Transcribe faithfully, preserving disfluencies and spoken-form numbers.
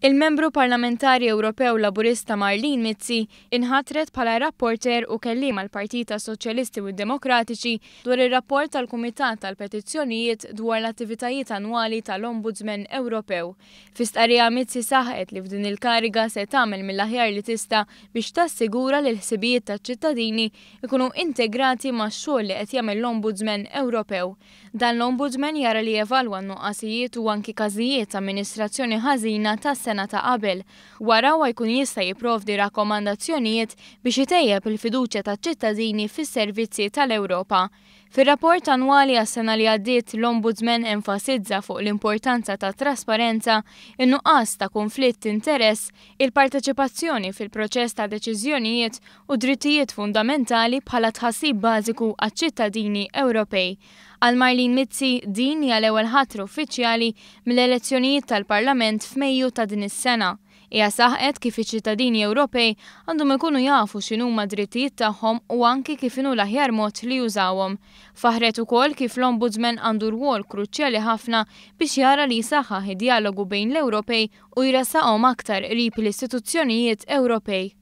Il-membru parlamentari Ewropew Laburista Marlene Mizzi inħatret bħala rapporter u kelliem għall-Partit Soċjalisti u Demokratiċi dwar ir-rapport tal-Kumitat tal-Petizzjonijiet dwar l-attivitajiet annwali tal-Ombudsman Ewropew. Fi stqarrija, Mizzi saħqet li f'din il-kariga se tagħmel mill-aħjar li tista' biex tassigura li l-ħsibijiet taċ-ċittadini ikunu integrati max-xogħol li qed jagħmel l-Ombudsman Ewropew. Dan l-Ombudsman jara li jevalwa n-nuqqasijiet u anki każijiet ta' amministrazzjoni ħażina tas-sena ta' qabel. Wara huwa jkun jista' jipprovdi rakkomandazzjonijiet biex itejjeb il-fiduċja taċ-ċittadini fis-servizzi tal-Ewropa. Fir-rapport annwali għas-sena li għaddiet, l-Ombudsman enfasizza fuq l-importanza ta' trasparenza, in-nuqqas ta' konflitt interess, il-parteċipazzjoni fil-proċess ta' deċiżjonijiet u drittijiet fundamentali bħala tħassib bażiku għaċ-ċittadini Ewropej. Għal Marlene Mizzi, din hija l-ewwel ħatra uffiċjali mill-elezzjonijiet tal-Parlament f'Mejju ta' din is-sena. Hija saħqet kif iċ-ċittadini Ewropej għandhom ikunu jafu x'inhuma drittijiet tagħhom u anki kif inhu l-aħjar mod li jużawhom. Faħret ukoll kif l-Ombudsman għandu rwol kruċjali ħafna biex jara li jsaħħaħ id-dialogu bejn l-Ewropej u jressaqhom aktar qrib l-istituzzjonijiet Ewropej.